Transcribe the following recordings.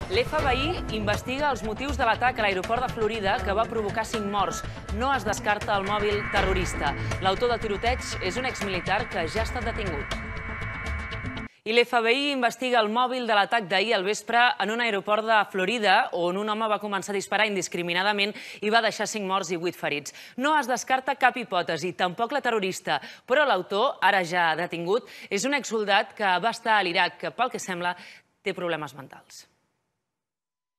L'FBI investiga els motius de l'atac a l'aeroport de Florida que va provocar 5 morts. No es descarta el mòbil terrorista. L'autor del tiroteig és un exmilitar que ja ha estat detingut. I l'FBI investiga el mòbil de l'atac d'ahir al vespre en un aeroport de Florida, on un home va començar a disparar indiscriminadament i va deixar 5 morts i 8 ferits. No es descarta cap hipòtesi, tampoc la terrorista, però l'autor, ara ja detingut, és un exsoldat que va estar a l'Iraq, que pel que sembla té problemes mentals.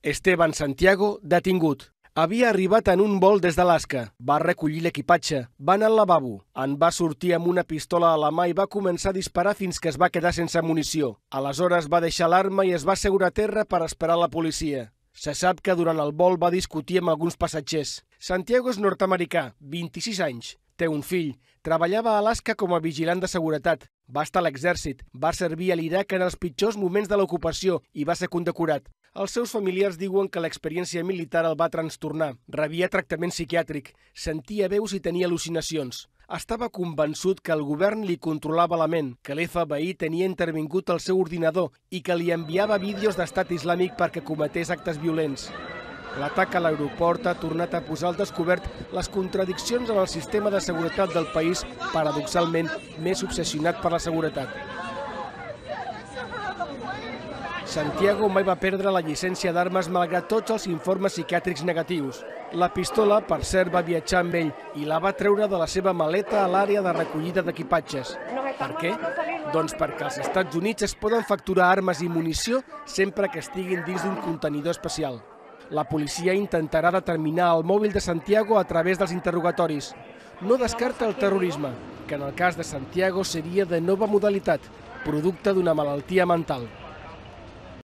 Esteban Santiago, detingut. Havia arribat en un vol des d'Alaska, va recollir l'equipatge, va anar al lavabo, en va sortir amb una pistola a la mà i va començar a disparar fins que es va quedar sense munició. Aleshores va deixar l'arma i es va asseure a terra per esperar la policia. Se sap que durant el vol va discutir amb alguns passatgers. Santiago és nord-americà, 26 anys, té un fill, treballava a Alaska com a vigilant de seguretat, va estar a l'exèrcit, va servir a l'Iraq en els pitjors moments de l'ocupació i va ser condecorat. Els seus familiars diuen que l'experiència militar el va trastornar. Rebia tractament psiquiàtric, sentia veus i tenia al·lucinacions. Estava convençut que el govern li controlava la ment, que l'FBI tenia intervingut al seu ordinador i que li enviava vídeos d'estat islàmic perquè cometés actes violents. L'atac a l'aeroport ha tornat a posar al descobert les contradiccions en el sistema de seguretat del país, paradoxalment més obsessionat per la seguretat. Santiago mai va perdre la llicència d'armes malgrat tots els informes psiquiàtrics negatius. La pistola, per cert, va viatjar amb ell i la va treure de la seva maleta a l'àrea de recollida d'equipatges. Per què? Doncs perquè als Estats Units es poden facturar armes i munició sempre que estiguin dins d'un contenidor especial. La policia intentarà determinar el mòbil de Santiago a través dels interrogatoris. No descarta el terrorisme, que en el cas de Santiago seria de nova modalitat, producte d'una malaltia mental.